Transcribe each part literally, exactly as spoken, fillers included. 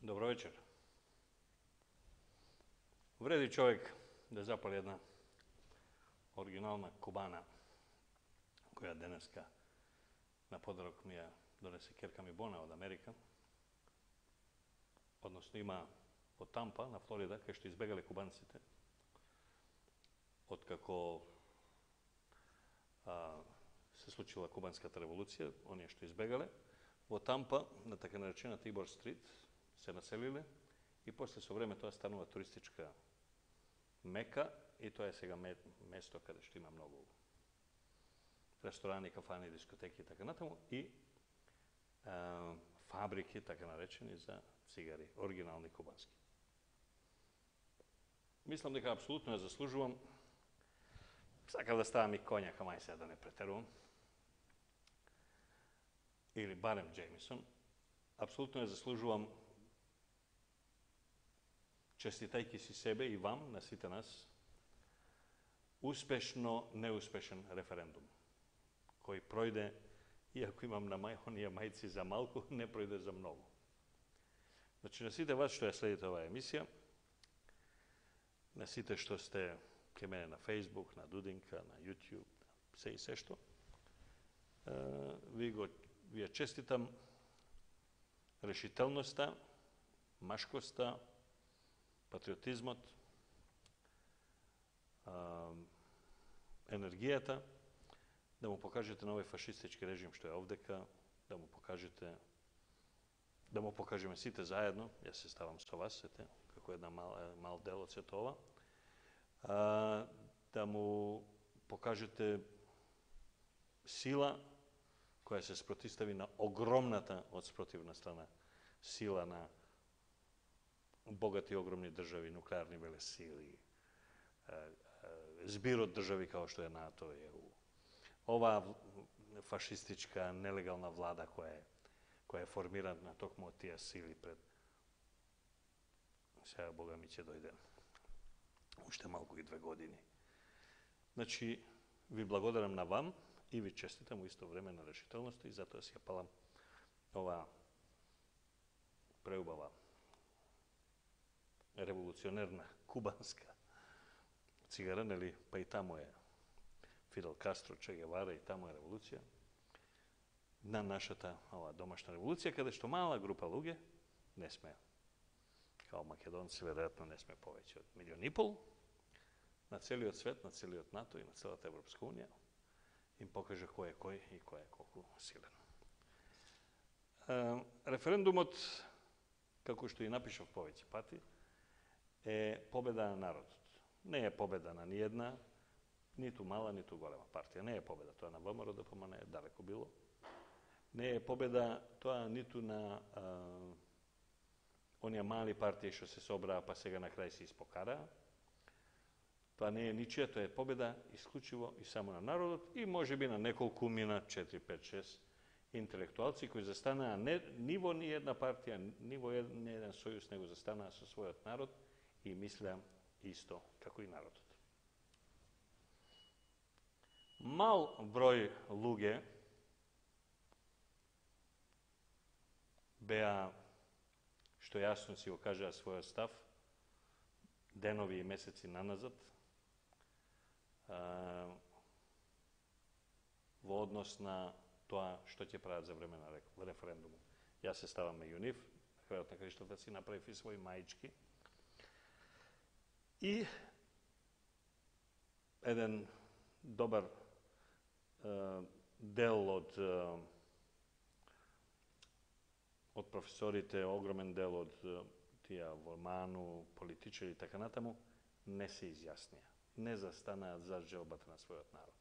Добро вечер. Вреди човек да запали една оригинална кубана, која денеска на подарок ми ја донесе керка ми Бона од Америка. Односно има од Тампа, на Флорида, кај што избегале кубанците, откако а, се случила кубанската револуција, оние што избегале, во Тампа, на така наречена Тибор Стрит, се населиле и после со време тоа станува туристичка мека и тоа е сега место каде што има многу ресторани, кафани, дискотеки и така натаму и а, фабрики, така наречени, за цигари, оригинални кубански. Мислам дека апсолутно ја заслужувам. Сакав да ставам и коњака, мај сега да не претерувам. Или барем Джеймисон. Апсолутно ја заслужувам, честитајќи си себе и вам, на сите нас, успешно неуспешен референдум, кој пројде, иако имам на мај, оние мајци за малку, не пројде за многу. Значи, на сите вас што ја следите оваа емисија, на сите што сте ке мене на Facebook, на Дудинка, на YouTube, се и се што, ви го ви ја честитам решителноста, машкоста, патриотизмот, енергијата, да му покажете на овој фашистички режим што е овдека, да му покажете, да му покажеме сите заедно, јас се ставам со вас, сете, како една мал, мал дел од сето ова, а, да му покажете сила која се спротистави на огромната од спротивна страна сила на богати огромни држави, нуклеарни велесили, збир од држави као што е НАТО, Е У. Оваа фашистичка, нелегална влада која е, која е формирана токму од тие сили пред... Сега, Бога ми ќе дојде уште малку и две години. Значи, ви благодарам на вам и ви честитам во исто време на решителноста и затоа си ја палам оваа преубава револуционерна кубанска цигара, нели, па и таму е Фидел Кастро, Че Гевара и таму е револуција, на нашата ова домашна револуција, каде што мала група луѓе, не сме, као македонци, веројатно не сме повеќе од милион и пол, на целиот свет, на целиот НАТО и на целата Европска унија, им покажа кој е кој и кој е колку силен. Референдумот, како што и напишав повеќе пати, е победа на народот. Не е победа на ниједна, ниту мала, ниту голема партија. Не е победа тоа на ВМРО Д П М Н, далеко било. Не е победа тоа ниту на а, оние мали партии што се собраа, па сега на крај се испокараа. Тоа не е ничија, тоа е победа исклучиво и само на народот и можеби на неколку мина, четири, пет, шест интелектуалци кои застанаа не ниво ни една партија, ниво ни еден сојуз, него застанаа со својот народ и мислеа исто како и народот. Мал број луѓе беа, што јасно си го кажаа својот став, денови и месеци наназад, во однос на тоа што ќе прават за време на референдумот. Јас се ставам меѓу нив, на крајот на краиштата си направив и своји маички. И еден добар е, дел од е, од професорите, огромен дел од е, тие во МАНУ, политичари и така натаму, не се изјаснија. Не застанаат за желбата на својот народ.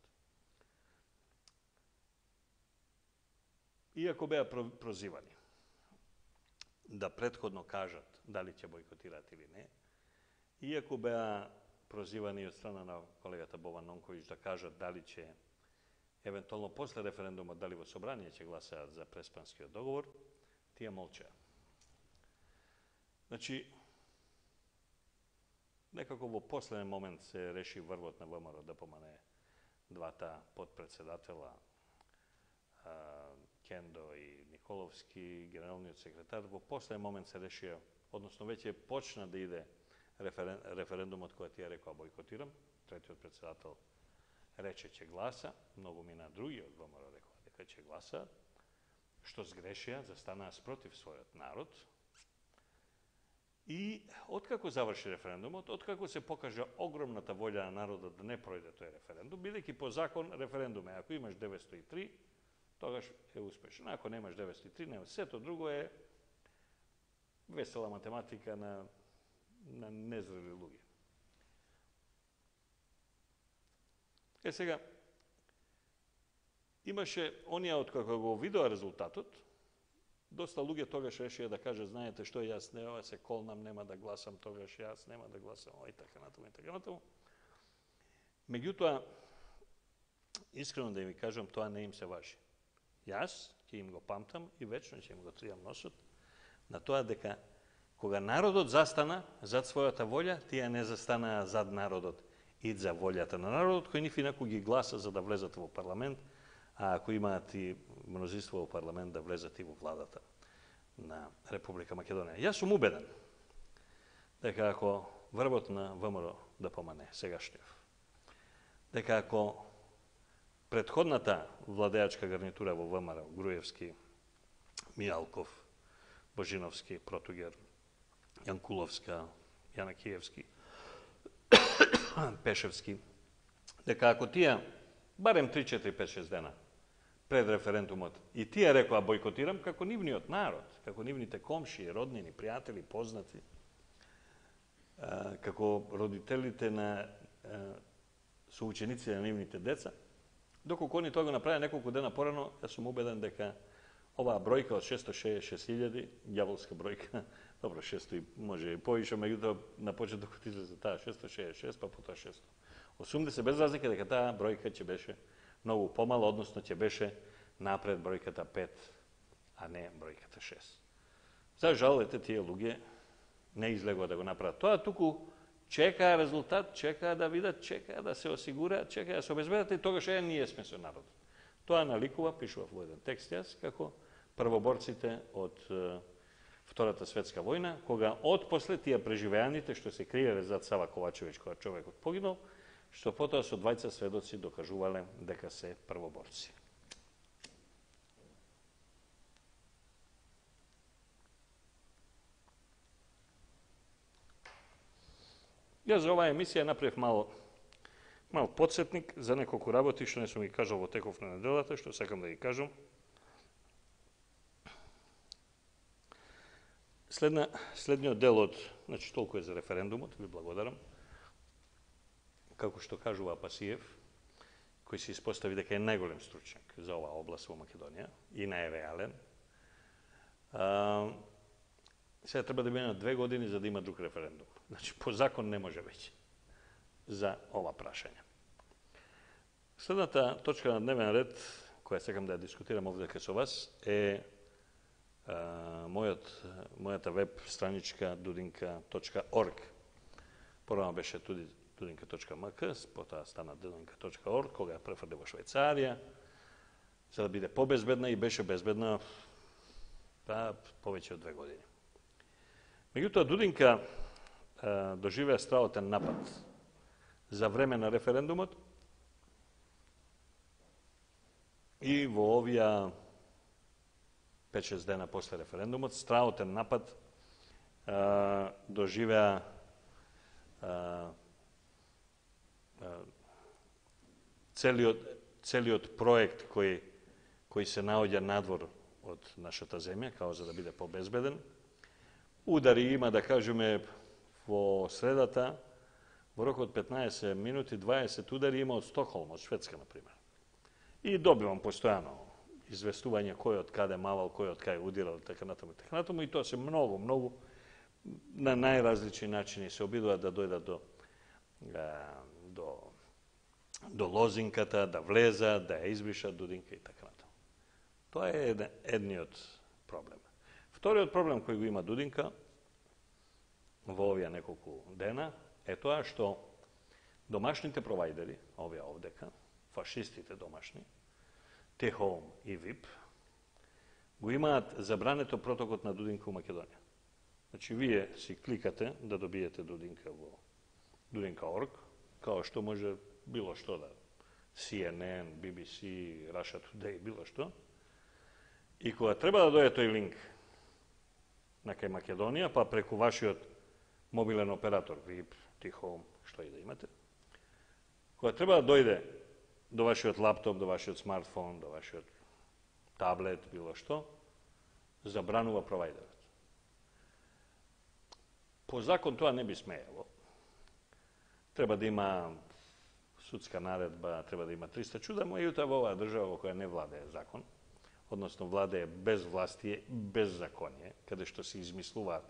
Иако беа прозивани да претходно кажат дали ќе бойкотираат или не, иако беа прозивани од страна на колегата Бован Нонковиќ да кажат дали ќе, евентуално после референдумот, дали во собрание ќе гласаат за Преспанскиот договор, тие молчеа. Значи, некако во последен момент се реши врвот на ВМРО Д П М Н, двата подпредседатела, Кендо и Николовски, генералниот секретар, во последен момент се решија односно веќе почна да иде референ, референдумот кој ти ја рекоа бойкотирам, третиот председател рече ќе гласа, многу мина други од ВМРО рекоа дека ќе гласа, што сгрешија, застанаа спротив својот народ. И откако заврши референдумот, откако се покажа огромната волја на народот да не пројде тој референдум, бидејќи по закон референдум е, ако имаш деветстотини и три, тогаш е успешен. Ако немаш деветстотини и три, нема. Сето друго е весела математика на, на незрели луѓе. Е сега, имаше оние откако го видоа резултатот, доста луѓе тогаш решија да кажат, знаете што, јас не се колнам, нема да гласам тогаш, јас нема да гласам, и така натаму, и така натаму. Меѓутоа, искрено да им кажам, тоа не им се важи. Јас ќе им го памтам и вечно ќе им го тријам носот на тоа дека кога народот застана зад својата волја, тие не застанаа зад народот и за волјата на народот, кој ниф инаку ги гласа за да влезат во парламент, а ако имаат и мнозинство во парламент да влезат и во владата на Република Македонија. Јас сум убеден дека ако врвот на ВМРО да помане сегашниот, дека ако претходната владеачка гарнитура во ВМРО, Груевски, Мијалков, Божиновски, Протугер, Јанкуловска, Јанакиевски, Пешевски, дека ако тие барем три, четири, пет, шест дена пред референдумот и тие рекоа бойкотирам, како нивниот народ, како нивните комши, роднини, пријатели, познати, како родителите на соученици на нивните деца, доколку они тоа го направи неколку дена порано, јас сум убеден дека оваа бројка од шестоста шеесет и шест илјади, ѓаволска бројка, добро, шестоста може и повише, меѓутоа на почетокот излезе таа шестоста шеесет и шест, па потоа шестоста осумдесет, без разлика дека таа бројка ќе беше многу помала, односно ќе беше напред бројката пет, а не бројката шест. За жал, ете, тие луѓе не излегува да го направат тоа, туку чекаа резултат, чекаа да видат, чекаа да се осигураат, чекаа да се обезбедат и тогаш е ние сме со народот. Тоа наликува, пишував во еден текст јас, како првоборците од е, Втората светска војна, кога отпосле тие преживеаните што се криеле зад Сава Ковачевиќ кога човекот погинал, што потоа со двајца сведоци докажувале дека се првоборци. Јас за оваа емисија направив мал, мал подсетник за неколку работи што не сум ги кажал во теков на неделата, што сакам да ги кажам. Следна, следниот дел од, значи толку е за референдумот, ви благодарам. Како што кажува Пасиев, кој се испостави дека е најголем стручњак за оваа област во Македонија и најреален, а, сега треба да минат две години за да има друг референдум. Значи, по закон не може веќе за ова прашање. Следната точка на дневен ред, која сакам да ја дискутирам овде со вас, е а, мојот, мојата веб страничка дудинка точка орг. Порано беше туди дудинка точка м к, потоа стана дудинка точка орг, кога ја префрли во Швајцарија, за да биде побезбедна и беше безбедна па, повеќе од две години. Меѓутоа, Дудинка а, доживеа страотен напад за време на референдумот и во овие пет-шест дена после референдумот страотен напад а, доживеа а, а, целиот, целиот проект кој, кој се наоѓа надвор од нашата земја, као за да биде побезбеден. Удари има, да кажеме, во средата, во рок од петнаесет минути, дваесет удари има од Стокхолм, од Шведска, например. И добивам постојано известување кој од каде мавал, кој од кај удирал, така натаму, така натаму, и тоа се многу, многу на најразлични начини се обидуваат да дојдат до, до, до лозинката, да влезат, да ја избришат Дудинка и така натаму. Тоа е едниот проблем. Вториот проблем кој го има Дудинка во овие неколку дена е тоа што домашните провајдери, овие овдека, фашистите домашни, T-Home и ви ай пи, го имаат забрането протокот на Дудинка у Македонија. Значи, вие си кликате да добиете Дудинка во Дудинка точка орг, као што може било што да, Си Ен Ен, Би Би Си, Russia Today, било што. И кога треба да дојде тој линк на кај Македонија, па преку вашиот мобилен оператор, Вип, Ти-Хоум, што и да имате, кога треба да дојде до вашиот лаптоп, до вашиот смартфон, до вашиот таблет, било што, забранува провајдерот. По закон тоа не би смеело. Треба да има судска наредба, треба да има триста чуда, меѓутоа во оваа држава во која не владее закон, односно владее безвластие, беззаконие, каде што се измислуваат,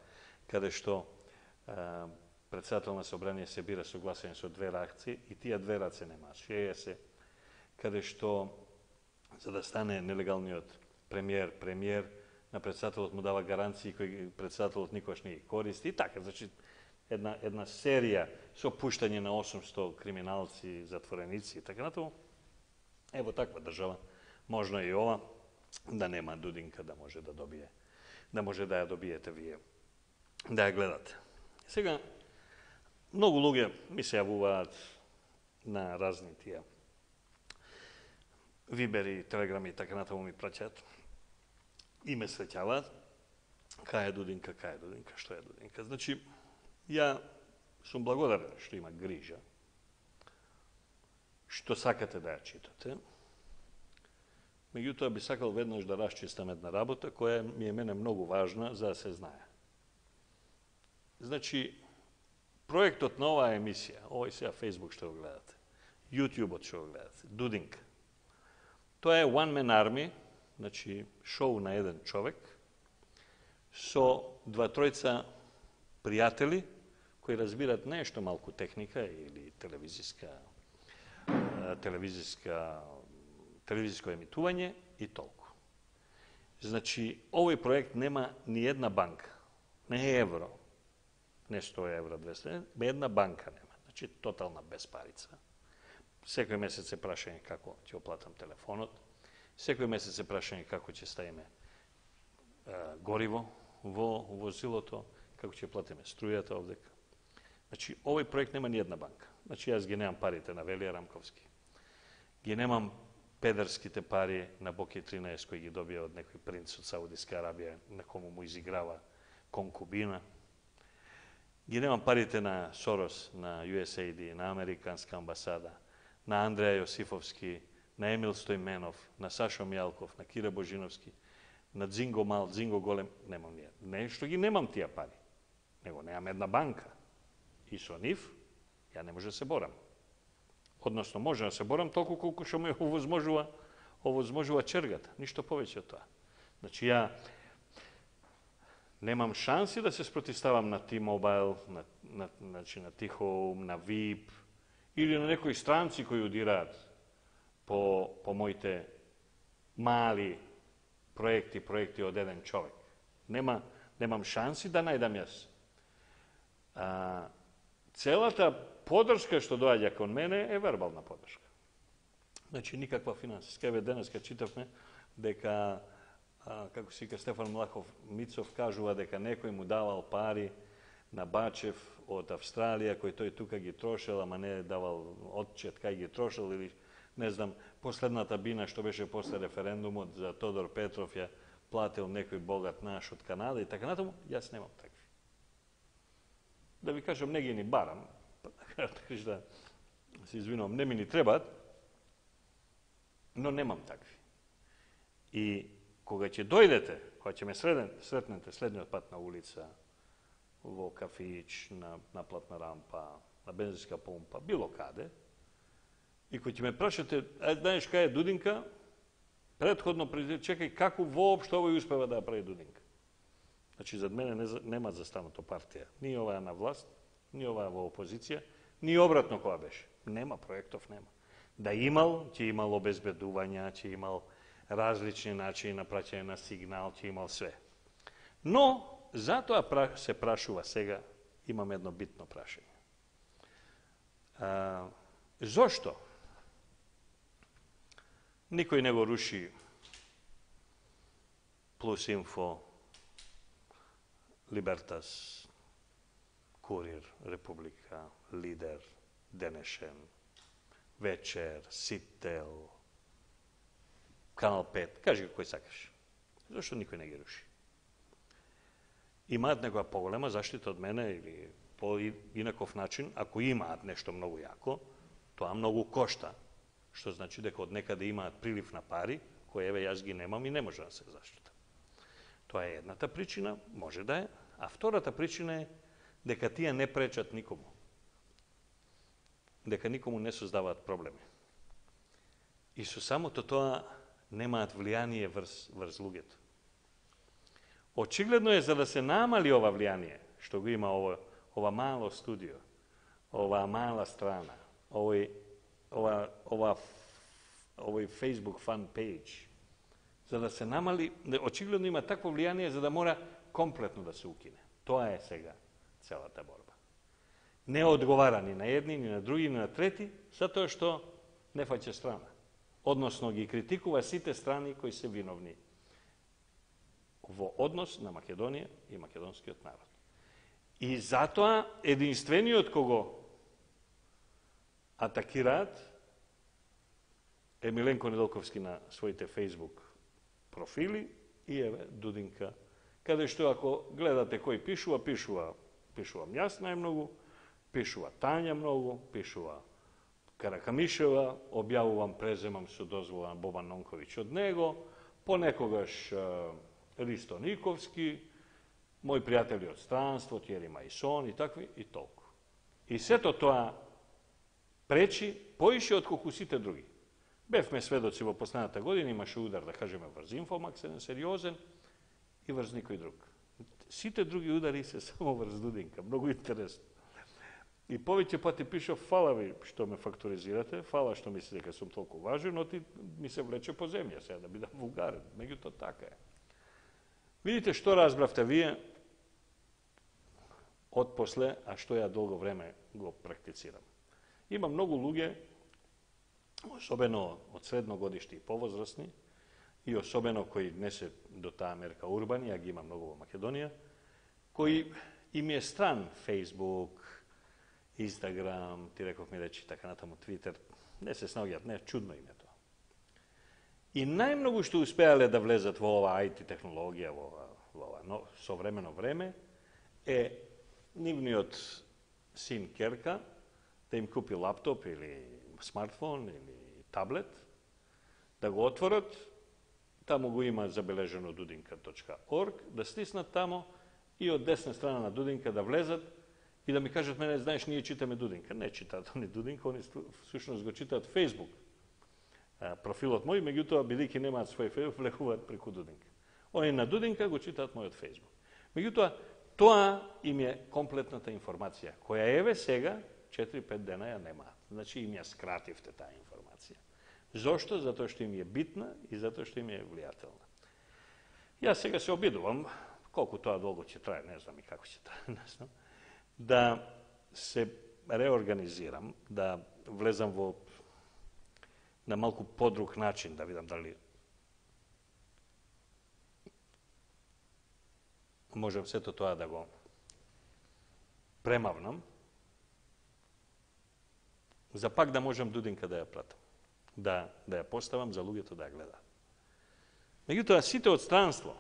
каде што е, председател на собрание се бира со гласање со две раце и тие две раце нема, шеја се, каде што за да стане нелегалниот премиер, премиер, на председателот му дава гаранции кои председателот никош не ги користи и така, значи една една серија со пуштање на осумсто криминалци, затвореници и така натаму. Ево таква држава, можно и ова да нема Дудинка да може да добие, да може да ја добиете вие, да ја гледате. Сега многу луѓе ми се јавуваат на разни тие вибери, телеграми и така натаму ми праќаат и ме среќаваат кај е Дудинка, кај е Дудинка, што е Дудинка. Значи, ја сум благодарен што има грижа, што сакате да ја читате. Меѓутоа би сакал веднаш да расчистам една работа која ми е мене многу важна за да се знае. Значи, проектот на оваа емисија, овој сега Facebook што го гледате, YouTube-от што го гледате, Дудинка, тоа е One Man Army, значи шоу на еден човек, со два-тројца пријатели кои разбират нешто малку техника или телевизиска, телевизиска, телевизиско емитување и толку. Значи, овој проект нема ни една банка, не е евро, не сто евро, двесте, една банка нема. Значи, тотална безпарица. Секој месец се прашање како ќе оплатам телефонот, секој месец се прашање како ќе ставиме е, гориво во возилото, како ќе платиме струјата овдека. Значи, овој проект нема ни една банка. Значи, јас ги немам парите на Велија Рамковски. Ги немам педерските пари на Боки тринаесет кои ги добија од некој принц од Саудиска Арабија, на кому му изиграва конкубина. Ги немам парите на Сорос, на Ю Ес Ей Ди, на Американска амбасада, на Андреја Јосифовски, на Емил Стојменов, на Сашо Мјалков, на Кира Божиновски, на Дзинго Мал, Дзинго Голем, немам ние. Не што ги немам тие пари, него немам една банка. И со нив, ја не може да се борам. Односно, може да се борам толку колку што ми овозможува, овозможува чергата, ништо повеќе од тоа. Значи, ја немам шанси да се спротивставам на T-Mobile, на, на, значи, на T-Home, на Вип, или на некои странци кои удираат по, по моите мали проекти, проекти од еден човек. Нема, немам шанси да најдам јас. А, целата подршка што доаѓа кон мене е вербална подршка. Значи, никаква финансиска. Еве денеска читавме дека, а, како си ка Стефан Млахов Мицов кажува дека некој му давал пари на Бачев од Австралија, кој тој тука ги трошел, ама не давал отчет кај ги трошел, или не знам, последната бина што беше после референдумот за Тодор Петров ја платил некој богат наш од Канада и така натаму, јас немам такви. Да ви кажам, не ги ни барам, да се извинувам, не ми ни требаат, но немам такви. И кога ќе дојдете, кога ќе ме сретнете следниот пат на улица, во кафич, на наплатна рампа, на бензинска помпа, било каде, и кој ќе ме прашате, е, знаеш кај е Дудинка, предходно чекај како воопшто овој успева да ја прави Дудинка. Значи, зад мене не, нема застанато партија. Ни оваа на власт, ни оваа во опозиција, ни обратно која беше. Нема проектов, нема. Да имал, ќе имал обезбедувања, ќе имал различни начини на праќање на сигнал, ќе имал све. Но, затоа се прашува сега, имам едно битно прашање. А, зошто никој не го руши Плус Инфо, Libertas, Kurir, Republika, Lider, Денешен, Вечер, Сител, Канал пет, кажи кој сакаш. Зашто никој не ги руши? Имаат некоја поголема заштита од мене или по инаков начин, ако имаат нешто многу јако, тоа многу кошта, што значи дека од некаде имаат прилив на пари, кој еве јас ги немам и не може да се заштитам. Тоа е едната причина, може да е, а втората причина е дека тие не пречат никому. Дека никому не создаваат проблеми. И со самото тоа немаат влијание врз, врз луѓето. Очигледно е за да се намали ова влијание, што го има ова, ова мало студио, ова мала страна, овој, ова, ова, овој Facebook fan page, за да се намали, очигледно има такво влијание за да мора комплетно да се укине. Тоа е сега целата борба. Не одговара ни на едни, ни на други, ни на трети, затоа што не фаќа страна. Односно ги критикува сите страни кои се виновни во однос на Македонија и македонскиот народ. И затоа единствениот кого атакираат е Миленко Недолковски на своите Facebook профили и еве Дудинка, каде што ако гледате кој пишува, пишува, пишувам јас најмногу, пишува Тања многу, пишува Каракамишева, објавувам, преземам со дозвола на Бобан Нонковиќ од него, понекогаш Ристо Никовски, мои пријатели од странство, Тјери Мајсон и такви, и толку. И сето тоа пречи поише отколку сите други. Бевме сведоци во последната година, имаше удар, да кажеме, врз Инфомакс, еден сериозен, и врз никој друг. Сите други удари се само врз Дудинка, многу интересно. И повеќе пати пишав, фала ви што ме факторизирате, фала што мислите дека сум толку важен, но ти ми се влече по земја, сега да бидам вулгарен, меѓутоа така е. Видите што разбравте вие од после, а што ја долго време го практицирам. Има многу луѓе, особено од средно годишти и повозрастни, и особено кои не се до таа мерка урбани, а ги има многу во Македонија, кои им е стран Facebook, Instagram, ти реков ми речи така натаму Twitter, не се снаоѓаат, не, чудно им е тоа. И најмногу што успеале да влезат во ова ай ти технологија, во ова, во ова но, современо време, е нивниот син Керка да им купи лаптоп или смартфон или таблет, да го отворат, таму го има забележено дудинка точка орг, да стиснат таму и од десна страна на Дудинка да влезат и да ми кажат, мене, знаеш, ние читаме Дудинка. Не читаат они Дудинка, они всушност го читаат Facebook. Профилот мој, меѓутоа, бидејќи немаат свој Facebook, влегуваат преку Дудинка. Они на Дудинка го читаат мојот Facebook. Меѓутоа, тоа им е комплетната информација, која еве сега, четири-пет дена ја немаат. Значи, им ја скративте таа информација. Зошто? Затоа што им е битна и затоа што им е влијателна. Јас сега се обидувам, колку тоа долго ќе трае, не знам и како ќе трае, не знам, да се реорганизирам, да влезам во на малку подруг начин, да видам дали можам сето тоа да го премавнам, за пак да можам Дудинка да ја пратам, да, да ја поставам за луѓето да ја гледаат. Меѓутоа, сите од странство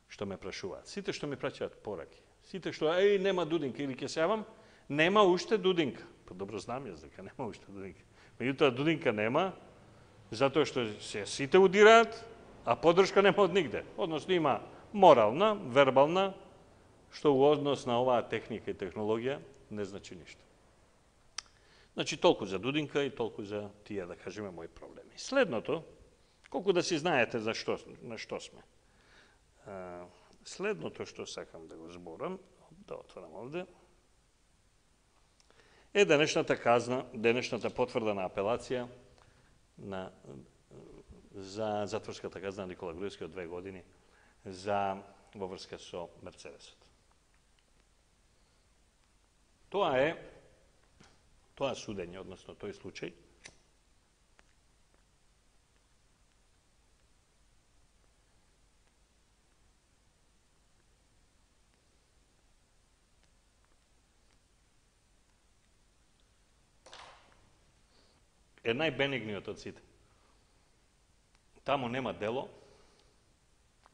што ме прашуваат, сите што ми праќаат пораки, сите што, еј, нема Дудинка, или ќе се јавам, нема уште Дудинка. Па добро знам јас дека нема уште Дудинка. Меѓутоа, Дудинка нема, затоа што се сите удираат, а поддршка нема од нигде. Односно, има морална, вербална, што во однос на оваа техника и технологија не значи ништо. Значи, толку за Дудинка и толку за тие, да кажеме, мои проблеми. Следното, колку да си знаете за што, на што сме. Следното што сакам да го зборам, да отворам овде, е денешната казна, денешната потврда на апелација на, за затворската казна на Никола Груевски од две години за во врска со Мерцедесот. Тоа е, тоа судење, односно тој случај, е најбенигниот од сите. Таму нема дело,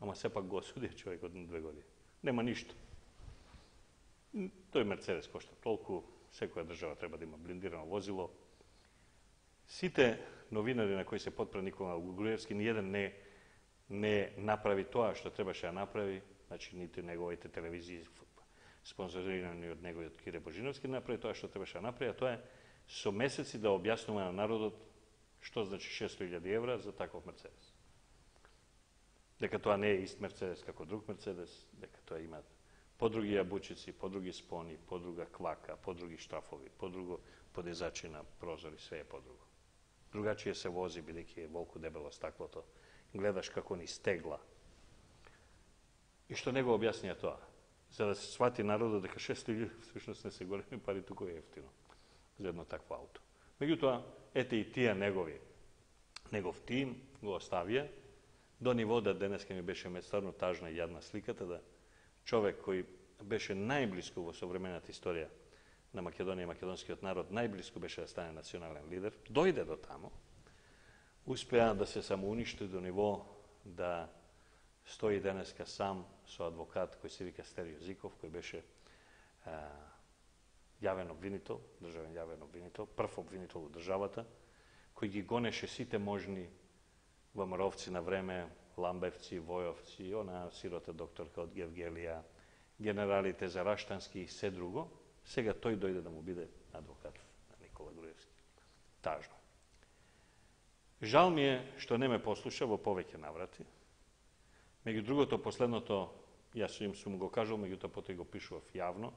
ама сепак го осуди човекот на две години. Нема ништо. Тој Мерцедес кошта толку, секоја држава треба да има блиндирано возило. Сите новинари на кои се подпре Никола Груевски, ниједен не не направи тоа што требаше да направи, значи нити неговите телевизии спонзорирани од него и од Кире Божиновски, направи тоа што требаше да направи, а тоа е со месеци да објаснува на народот што значи шесто илјади евра за таков Мерцедес. Дека тоа не е ист Мерцедес како друг Мерцедес, дека тоа има подруги јабучици, подруги спони, подруга квака, подруги штрафови, подруго подизачи на прозори, све е подруго. Другачие се вози, бидејќи е волку дебело стаклото, гледаш како ни стегла. И што него објаснија тоа? За да се свати народот дека шесто илјади всушност не се големи пари, туку е ефтино за едно такво ауто. Меѓутоа, ете и тие негови, негов тим го оставија до ниво да денеска ми беше стварно тажна и јадна сликата да човек кој беше најблиску во современата историја на Македонија и македонскиот народ, најблиску беше да стане национален лидер, дојде до тамо, успеа да се самоуништи до ниво да стои денеска сам со адвокат кој се вика Стерио Зиков, кој беше а, јавен обвинител, државен јавен обвинител, прв обвинител во државата, кој ги гонеше сите можни ВМРО-вци на време, Ламбевци, Војовци, она сирота докторка од Гевгелија, генералите за Раштански и се друго, сега тој дојде да му биде адвокат на Никола Груевски. Тажно. Жал ми е што не ме послуша во повеќе наврати. Меѓу другото, последното, јас им сум го кажал, меѓутоа потоа го пишував јавно,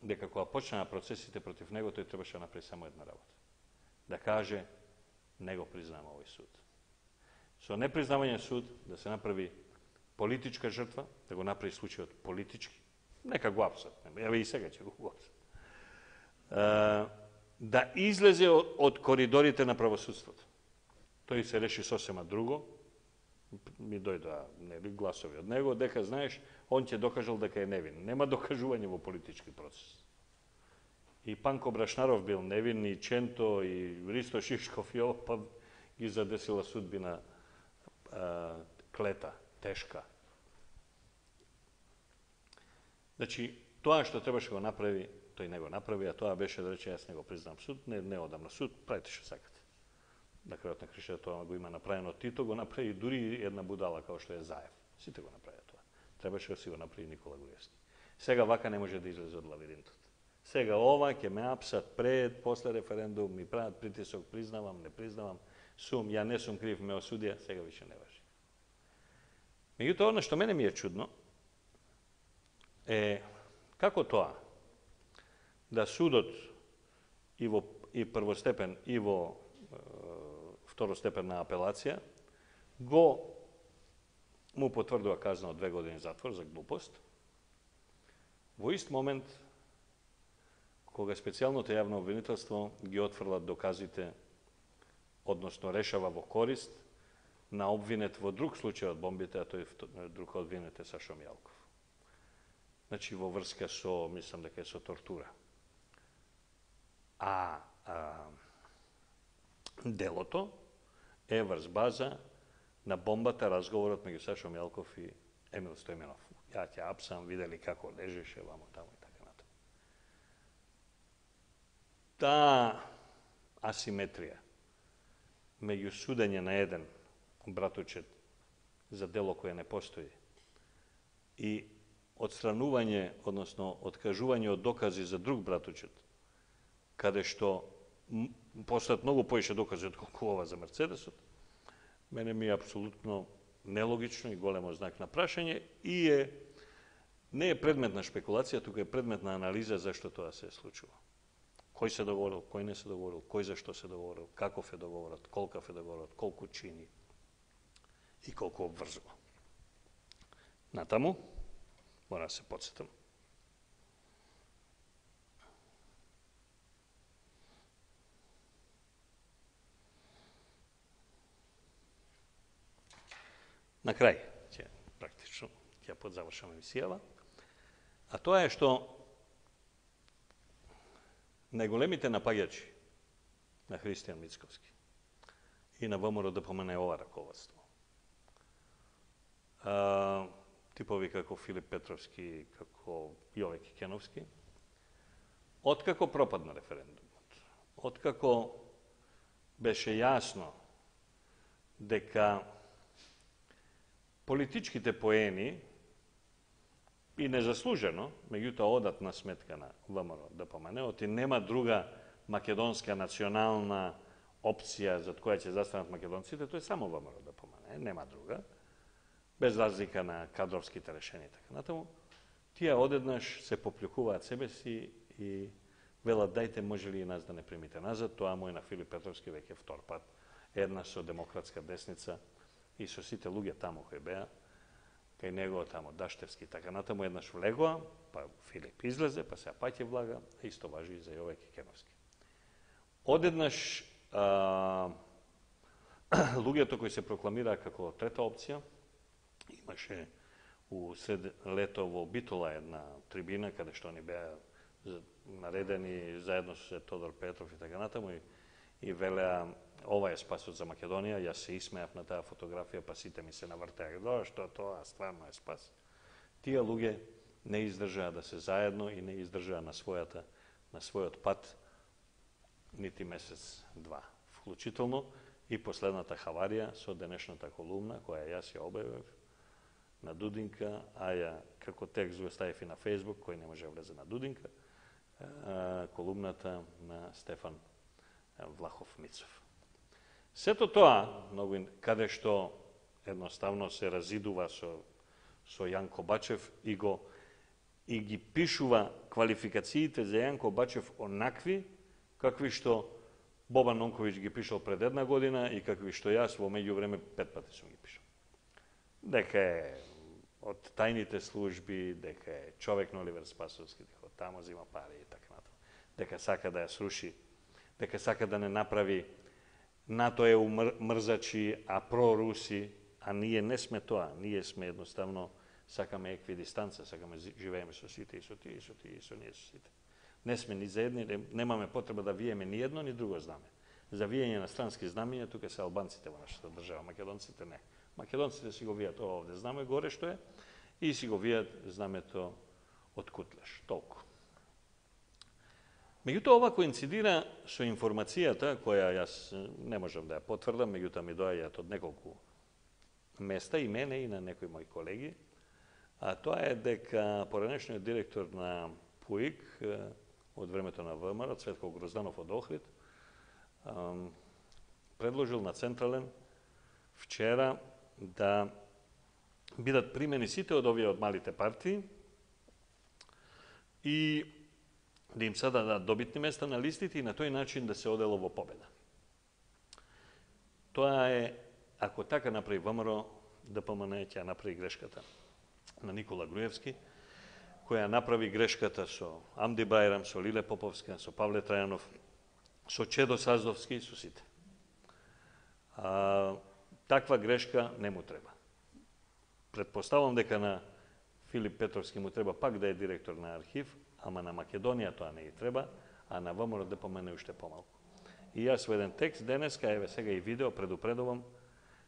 дека кога почнаа процесите против него, тој требаше да направи само една работа. Да каже, не го признавам овој суд. Со непризнавање суд, да се направи политичка жртва, да го направи случајот политички, нека го апсат, еве и сега ќе го апсат. Да излезе од коридорите на правосудството. Тој се реши сосема друго, ми дојдоа нели гласови од него, дека знаеш, он ќе докажал дека е невин. Нема докажување во политички процес. И Панко Брашнаров бил невин, и Ченто, и Ристо Шишков, и ово, па ги задесила судбина а, клета, тешка. Значи, тоа што требаше го направи, тој не го направи, а тоа беше да рече, јас не го признам суд, не, не одам на суд, правите што сакате. На крајот на кришата тоа го има направено Тито, го направи дури една будала како што е Заев. Сите го направи тоа. Требаше да си го направи Никола Груевски. Сега вака не може да излезе од лавиринтот. Сега ова ќе ме апсат пред, после референдум, ми прават притисок, признавам, не признавам, сум, ја не сум крив, ме осудија, сега више не важи. Меѓутоа, она што мене ми е чудно, е како тоа да судот и во и првостепен и во е, второстепенна апелација го му потврдува казна од две години затвор за глупост. Во ист момент кога специјалното јавно обвинителство ги отфрлат доказите, односно решава во корист на обвинет во друг случај од бомбите, а тој друг обвинет е Сашо Мјалков. Значи во врска со, мислам дека е со тортура. А, а делото е врз база на бомбата, разговорот меѓу Сашо Мјалков и Емил Стојменов. Ја ќе апсам, видели како лежеше вамо тамо и така натаму. Таа асиметрија меѓу судење на еден братучет за дело кое не постои и отстранување, односно откажување од докази за друг братучет, каде што постојат многу поише докази од колку ова за Мерцедесот, мене ми е апсолутно нелогично и големо знак на прашање и е не е предмет на шпекулација, туку е предмет на анализа зашто тоа се е случило. Кој се договорил, кој не се договорил, кој зашто се договорил, каков е договорот, колкав е договорот, колку чини и колку обврзува. Натаму, мора да се подсетам. На крај, ќе практично ќе подзавршам емисијава, а тоа е што најголемите напаѓачи на Христијан Мицковски и на ВМРО да помене ова раководство. А, типови како Филип Петровски, како Јове Кикеновски, откако пропадна референдумот, откако беше јасно дека политичките поени и незаслужено, меѓутоа одат на сметка на ВМРО да помене, оти нема друга македонска национална опција за која ќе застанат македонците, тоа е само ВМРО да помене, нема друга, без разлика на кадровските решенија така натаму. Тие одеднаш се поплюкуваат себе си и велат дајте може ли и нас да не примите назад, тоа му е на Филип Петровски веќе втор пат, една со демократска десница и со сите луѓе таму кои беа, кај него тамо Даштевски така натаму еднаш влегоа, па Филип излезе, па сега паќе влага, а исто важи и за Јове Кикеновски. Одеднаш а, луѓето кои се прокламираа како трета опција, имаше у сред лето во Битола една трибина каде што они беа наредени заедно со Тодор Петров и така натаму и, и велеа ова е спасот за Македонија. Јас се исмеав на таа фотографија, па сите ми се навртеа. До што тоа стварно е спас. Тие луѓе не издржаа да се заедно и не издржаа на својата на својот пат нити месец два. Вклучително и последната хаварија со денешната колумна која јас ја објавив на Дудинка, а ја како текст го ставив и на Фејсбук, кој не може да влезе на Дудинка, колумната на Стефан Влахов Мицов. Сето тоа, многу, каде што едноставно се разидува со, со Јанко Бачев и го и ги пишува квалификациите за Јанко Бачев онакви какви што Бобан Нонковиќ ги пишал пред една година и какви што јас во меѓувреме пет пати сум ги пишал. Дека е од тајните служби, дека е човек на Оливер Спасовски, дека тамо зима пари и така натаму. Дека сака да ја сруши, дека сака да не направи НАТО е мрзачи, а проруси, а ние не сме тоа. Ние сме едноставно, сакаме еквидистанца, сакаме живееме со сите и со тие, и со тие, и со ние со сите. Не сме ни за едни, немаме потреба да виеме ни едно, ни друго знаме. За виење на странски знамења, тука се албанците во нашата држава, македонците не. Македонците си го вијат овде знаме горе што е и си го вијат знамето од Кутлеш. Толку. Меѓутоа, ова коинцидира со информацијата, која јас не можам да ја потврдам, меѓутоа ми доаѓаат од неколку места, и мене, и на некои мои колеги, а тоа е дека поранешниот директор на ПУИК од времето на ВМРО, Цветко Грозданов од Охрид, предложил на Централен вчера да бидат примени сите од овие од малите партии и да им се дадат добитни места на листите и на тој начин да се одело во победа. Тоа е, ако така направи ВМРО, ДПМН ќе направи грешката на Никола Груевски, која направи грешката со Амди Бајрам, со Лиле Поповска, со Павле Трајанов, со Чедо Саздовски, со сите. А, таква грешка не му треба. Предпоставам дека на Филип Петровски му треба пак да е директор на архив, ама на Македонија тоа не ги треба, а на ВМРО ДПМН уште помалку. И јас во еден текст денеска, еве сега и видео, предупредувам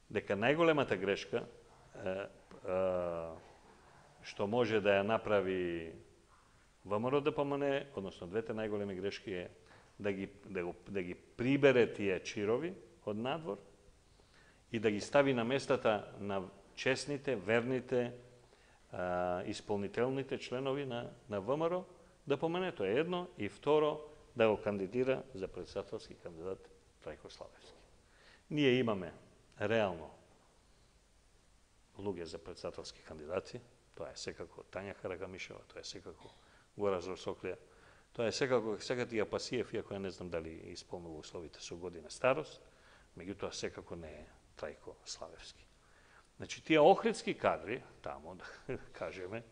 дека најголемата грешка е, е, што може да ја направи ВМРО ДПМН, односно двете најголеми грешки е да ги, да, го, да ги прибере тие чирови од надвор и да ги стави на местата на честните, верните, а, исполнителните членови на, на ВМРО, да помене тоа едно, и второ, да го кандидира за председателски кандидат Трајко Славевски. Ние имаме реално луѓе за председателски кандидати, тоа е секако Тања Карагамишева, тоа е секако Горазор Соклија, тоа е секако Секатија Пасиев, иако ја не знам дали исполнува условите со година старост, меѓутоа секако не е Трајко Славевски. Значи, тие охридски кадри, тамо, да кажеме,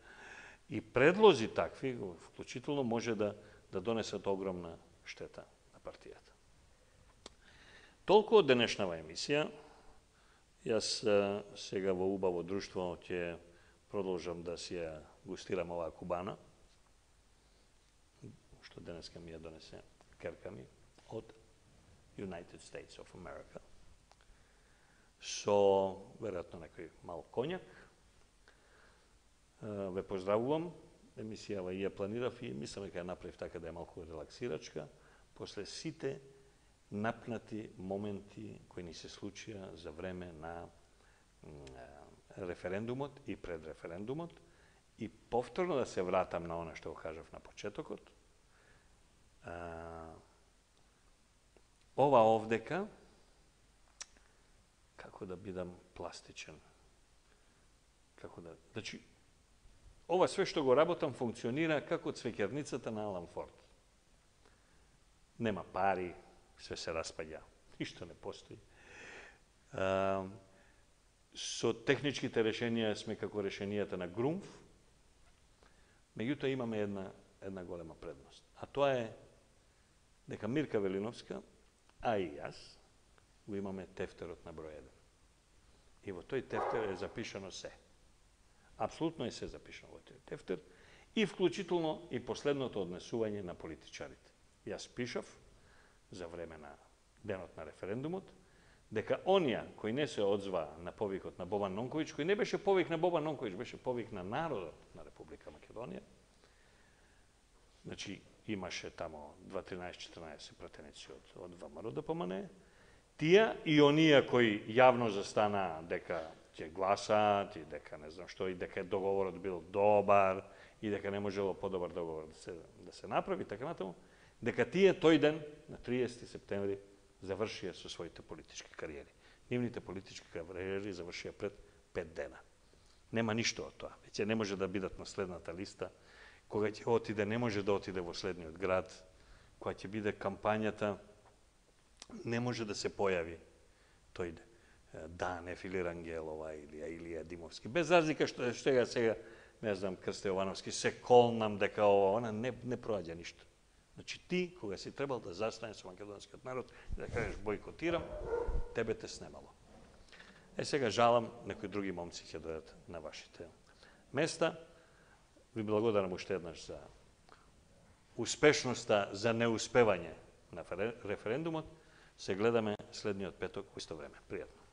и предлози такви, вклучително може да, да донесат огромна штета на партијата. Толку од денешнава емисија. Јас сега во убаво друштво ќе продолжам да си ја густирам оваа кубана, што денеска ми ја донесе керка ми од United States of America, со, веројатно, некој мал конјак. Ве поздравувам, емисијава и ја планирав и мислам дека ја направив така да е малку релаксирачка, после сите напнати моменти кои ни се случија за време на референдумот и пред референдумот, и повторно да се вратам на она што го кажав на почетокот. Ова овдека, како да бидам пластичен, како да... Значи, ова све што го работам функционира како цвеќарницата на Алан Форд. Нема пари, све се распаѓа, ништо не постои. А, со техничките решенија сме како решенијата на Грумф, меѓутоа имаме една, една голема предност. А тоа е дека Мирка Велиновска, а и јас, го имаме тефтерот на број еден. И во тој тефтер е запишано се. Апсолутно е се запишано во тој тефтер, и вклучително и последното однесување на политичарите. Јас пишав за време на денот на референдумот, дека онија кои не се одзваа на повикот на Бобан Нонковиќ, кој не беше повик на Бобан Нонковиќ, беше повик на народот на Република Македонија, значи имаше тамо два тринаесет четинаесет пратеници од, од ВМРО да помане, тие и оние кои јавно застанаа дека ќе гласаат и дека не знам што, и дека договорот бил добар и дека не можело подобар договор да се, да се направи, така натаму, дека тие тој ден, на триесети септември, завршија со своите политички кариери. Нивните политички кариери завршија пред пет дена. Нема ништо од тоа. Веќе не може да бидат на следната листа, кога ќе отиде, не може да отиде во следниот град, кога ќе биде кампањата, не може да се појави тој Данев или Рангелова или Илија Димовски. Без разлика што сега сега, не знам, Крсте Јовановски, се колнам дека ова, она не, не проаѓа ништо. Значи ти, кога си требал да застане со македонскиот народ и да кажеш бойкотирам, тебе те снемало. Е, сега жалам, некои други момци ќе дојдат на вашите места. Ви благодарам уште еднаш за успешноста, за неуспевање на референдумот. Се гледаме следниот петок во исто време. Пријатно.